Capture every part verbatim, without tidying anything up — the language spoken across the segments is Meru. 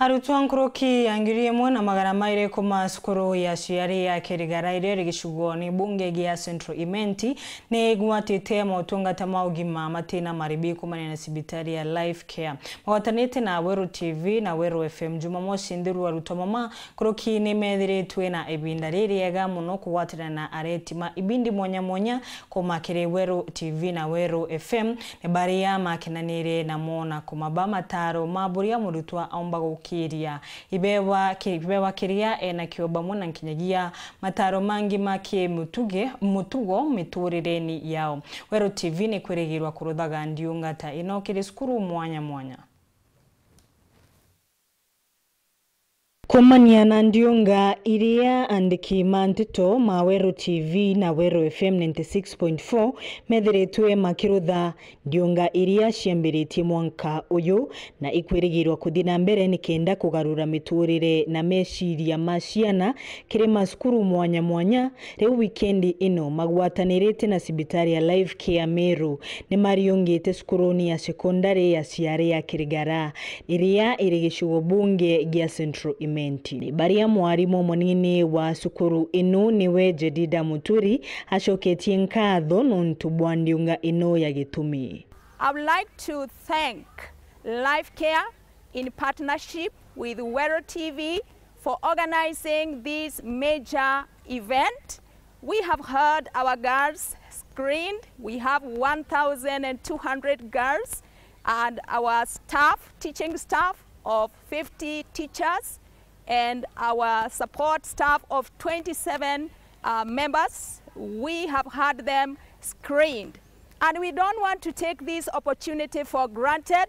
Arutwo nkuruki ya ngiri imwe na magana mairi kuma cukuru ya ciari ya Kirigara iria iri gicigoone bunge gia Central Imenti ni igwatite motungata ma ugima matina maribi kumania na cibitari ya Life Care. Magwatanite na Weru T V na Weru F M, Jumamosi nthiru arutwo mama nkuruki ni methiritwe na ibinda ririega mono kugwatanira na areti ma ibindi mwanya mwanya kuma kiri Weru T V na Weru F M, ni baria makenanire namo na kumaba mataro ma buria murutwa aumba gukiria ibewa ki-, ibewa kiria enakio bamwe na nkinyagia mataro mangi ma kimutuge-, mutugo miturireni yao. Weru T V ni kwirigirwa kuruthaga ndiunga ta ino kiri cukuru mwanya mwanya. Kumania na ndiunga iria andiki ma nteto ma Weru T V na Weru F M ninety six point four methiritwe makirutha ndiunga iria ciambiritie mwanka uyu na ikwirigirwa kuthi na mbere nikenda kugarura miturire na meciria ma ciana kiri macukuru mwanya mwanya. Riu wikendi ino magwatanirite na cibitari ya Life Care Meru ni mariungite cukuruni ya sekondari ya ciari ya Kirigara iria iri gicigo bunge gia Central Imenti. Baria mwarimu munini wa cukuru ino niwe Jedida Muturi acoketie nkatho nontu bwa ndiunga ino ya gitumi. I would like to thank Life Care in partnership with Weru T V for organizing this major event. We have had our girls screened. We have one thousand and two hundred girls and our staff, teaching staff of fifty teachers and our support staff of twenty-seven, uh, members. We have had them screened. And we don't want to take this opportunity for granted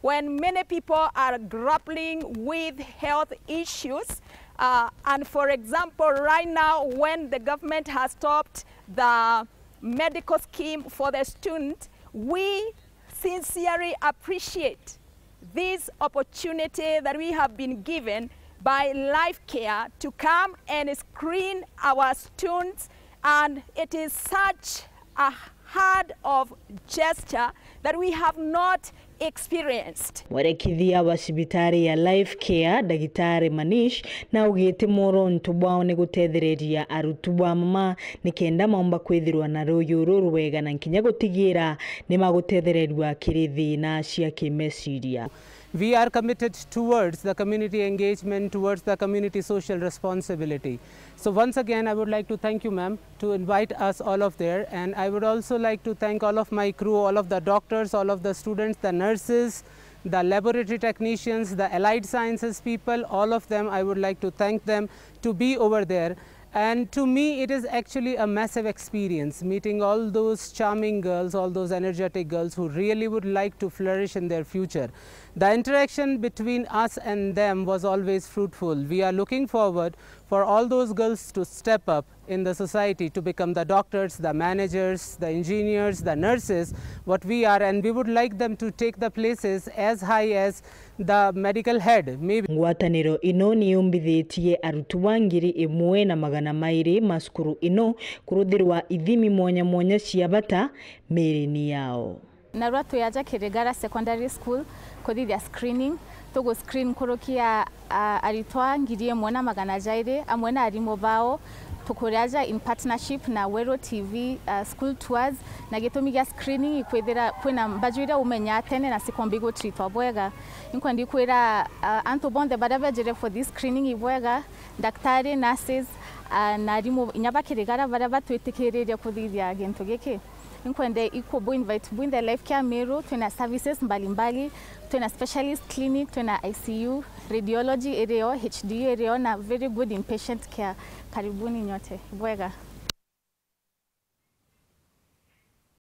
when many people are grappling with health issues. Uh, and for example, right now, when the government has stopped the medical scheme for the student, we sincerely appreciate this opportunity that we have been given by Life Care to come and screen our students, and it is such a hard of gesture that we have not experienced. Mwerekithia wa cibitari ya Life Care, Ndagitari Manish, na augite mworonto bwao ni gutethereria arutwo ba mama nikenda maumba kwithirwa na ruyu rurwega na nkinya gutigira ni magutethererua kiri thina cia kimeciria. We are committed towards the community engagement, towards the community social responsibility. So once again, I would like to thank you, ma'am, to invite us all of there. And I would also like to thank all of my crew, all of the doctors, all of the students, the nurses, the laboratory technicians, the allied sciences people, all of them, I would like to thank them to be over there. And to me, it is actually a massive experience meeting all those charming girls, all those energetic girls who really would like to flourish in their future. The interaction between us and them was always fruitful. We are looking forward for all those girls to step up in the society, to become the doctors, the managers, the engineers, the nurses, what we are, and we would like them to take the places as high as the medical head, maybe. Ngwataniro ino ni yumbithitie arutwo ba ngiri imwe na magana mairi ma cukuru ino kuruthirwa ithimi mwanya mwanya cia bata miirini yao. Narua twi aja Kirigara Secondary School kuthithia screening. Tugu screen nkuruki ya, a, aritwa ngiri imwe na magana jairi amwe na arimu bao. Tukuri aja in partnership na Weru T V, a, School Tours, na gitumi gia screening ikwithira kwina mbaju iria umenyaa tene na cikomba igutreatwa bwega. Inkwendi kwira, a, antu bonthe baria bejire for this screening ibwega, daktari, nurses, a, na arimu inya ba Kirigara baria batwitikiririe kuthithia gintu giki. Inkwende iku bu invite bwinthe Life Care Meru, twina services mbalimbali, twina specialist clinic, twina I C U, radiology irio, H D U irio, na very good inpatient care. Karibuni nyote. Bwega.